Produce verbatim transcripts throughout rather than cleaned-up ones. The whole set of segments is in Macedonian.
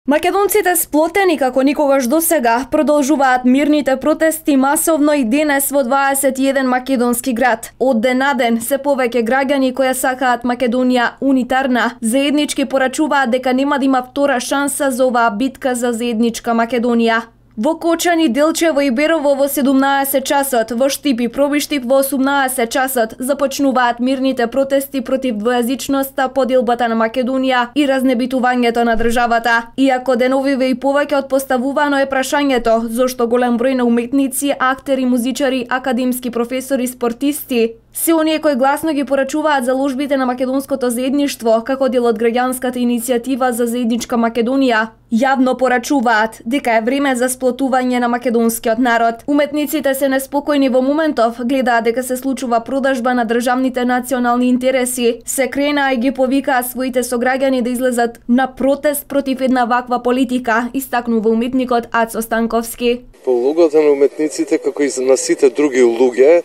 Македонците сплотени како никогаш досега продолжуваат мирните протести масовно и денес во дваесет и еден македонски град. Од ден на ден се повеќе граѓани кои сакаат Македонија унитарна заеднички порачуваат дека нема да има втора шанса за оваа битка за заедничка Македонија. Во Кочани, Делчево и Берово во седумнаесет часот, во Штип и Пробиштип во осумнаесет часот започнуваат мирните протести против двојазичноста, поделбата на Македонија и разнебитувањето на државата. Иако деновиве и повеќе од поставувано е прашањето зошто голем број на уметници, актери, музичари, академски професори, спортисти се оние кои гласно ги порачуваат заложбите на македонското заедништво како дел од граѓанската иницијатива за заедничка Македонија, јавно порачуваат дека е време за сплотување на македонскиот народ. Уметниците се неспокојни во моментов, гледаат дека се случува продажба на државните национални интереси, се крена и ги повикаа своите сограѓани да излезат на протест против една ваква политика, истакнува уметникот Ацо Станковски. По улогата на уметниците, како и на сите други луѓе,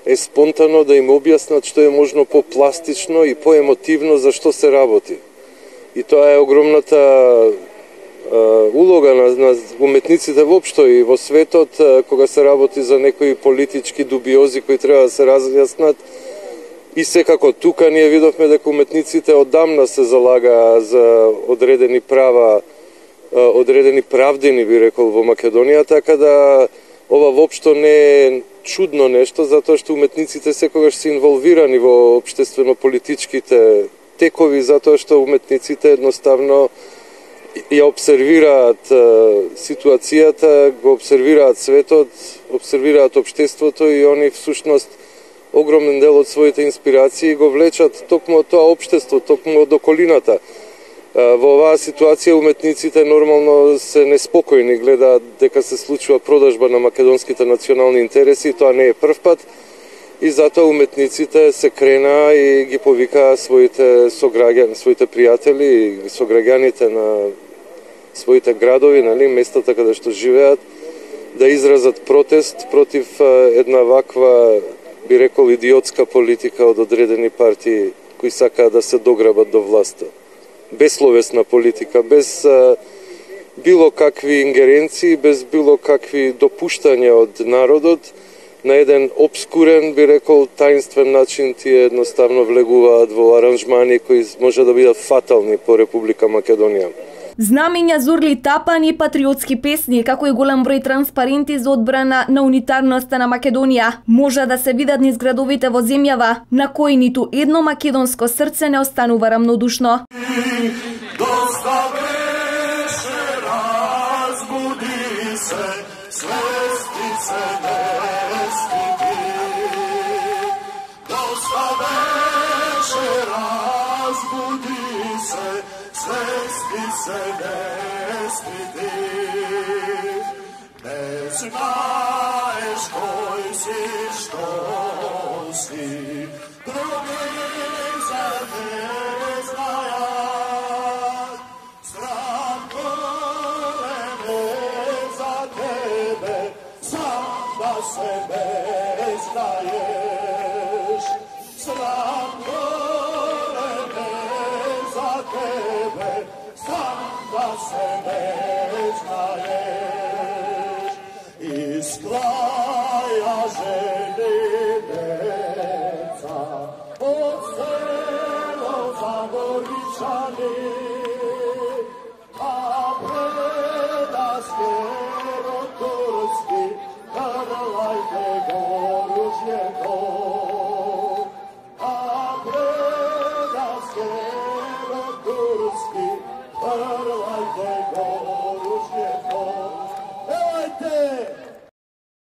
е спонтано да им објаснат што е можно по-пластично и по-емотивно за што се работи. И тоа е огромната uh, улога на, на уметниците воопшто и во светот, uh, кога се работи за некои политички дубиози кои треба да се разјаснат. И секако тука ние видовме дека уметниците одамна се залага за одредени права, uh, одредени правдени, би рекол, во Македонија, така да ова воопшто не е чудно нешто, затоа што уметниците секогаш се инволвирани во општествено-политичките текови, затоа што уметниците едноставно ја обсервираат ситуацијата, го обсервираат светот, обсервираат општеството и они всушност огромен дел од своите инспирации го влечат токму од тоа општество, токму од околината. Во оваа ситуација уметниците нормално се неспокојни, гледаат дека се случува продажба на македонските национални интереси, тоа не е прв пат, и затоа уметниците се крена и ги повикаа своите сограѓани, своите пријатели и сограѓаните на своите градови, нали, местата каде што живеат, да изразат протест против една ваква, би рекол, идиотска политика од одредени партии кои сакаат да се дограбат до власта. Безсловесна политика, без а, било какви ингеренции, без било какви допуштања од народот, на еден обскурен, би рекол, таинствен начин тие едноставно влегуваат во аранжмани кои може да бидат фатални по Република Македонија. Знамиња, зурли тапани, патриотски песни, како и голем број транспаренти за одбрана на унитарноста на Македонија може да се видат низ градовите во земјава, на кои ниту едно македонско срце не останува рамнодушно. Доста беше, разбуди се, свести се, не стиди. Доста беше, разбуди се, свести се, не стиди. Не знаеш кој си, што си, други за те знајат. Срам големе за тебе, сам да се не знаеш. Срам големе за тебе, сам да се не знаеш.